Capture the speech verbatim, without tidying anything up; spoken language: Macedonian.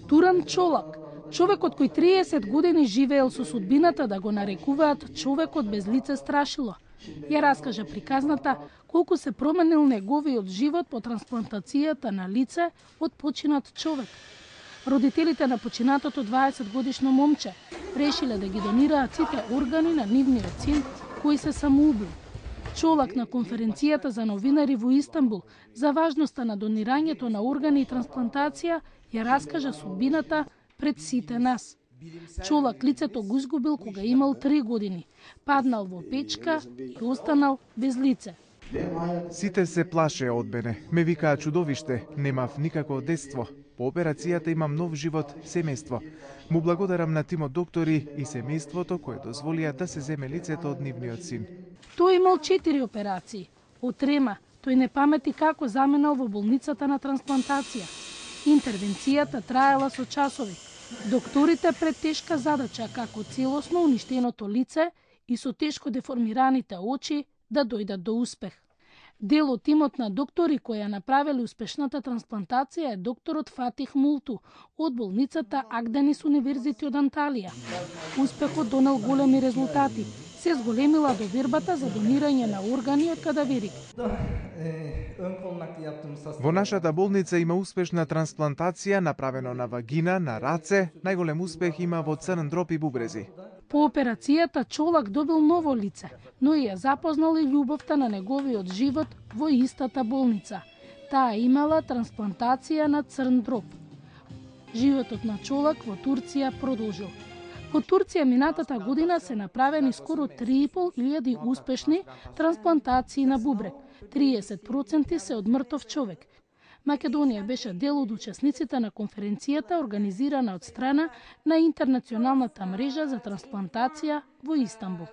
Туран Чолак, човекот кој триесет години живеел со судбината да го нарекуваат човекот без лице страшило, ја раскажа приказната колку се променил неговиот живот по трансплантацијата на лице од починат човек. Родителите на починатото дваесет годишно момче решиле да ги донираат сите органи на нивниот син кој се самоубил. Чолак на конференцијата за новинари во Истанбул за важноста на донирањето на органи и трансплантација ја раскажа судбината пред сите нас. Чолак лицето го изгубил кога имал три години, паднал во печка и останал без лице. Сите се плашеа од мене. Ме викаа чудовиште, немав никако детство. По операцијата имам нов живот, семејство. Му благодарам на тимот доктори и семејството кои дозволија да се земе лицето од нивниот син. Тој имал четири операции. Од трема, тој не памети како заменал во болницата на трансплантација. Интервенцијата траела со часови. Докторите пред тешка задача како целосно уништеното лице и со тешко деформираните очи да дојдат до успех. Дел од тимот на доктори кои ја направиле успешната трансплантација е докторот Фатих Мулту од болницата Акденис Универзити од Анталија. Успехот донел големи резултати. Се зголемила довербата за донирање на органи од кадаверик. Во нашата болница има успешна трансплантација направено на вагина, на раце, најголем успех има во црн дроб и бубрези. По операцијата Чолак добил ново лице, но и ја запознал и љубовта на неговиот живот во истата болница. Таа имала трансплантација на црн дроб. Животот на Чолак во Турција продолжил. Во Турција минатата година се направени скоро три и пол илјади успешни трансплантации на бубрек. триесет проценти се од мртов човек. Македонија беше дел од учесниците на конференцијата организирана од страна на Интернационалната мрежа за трансплантација во Истанбул.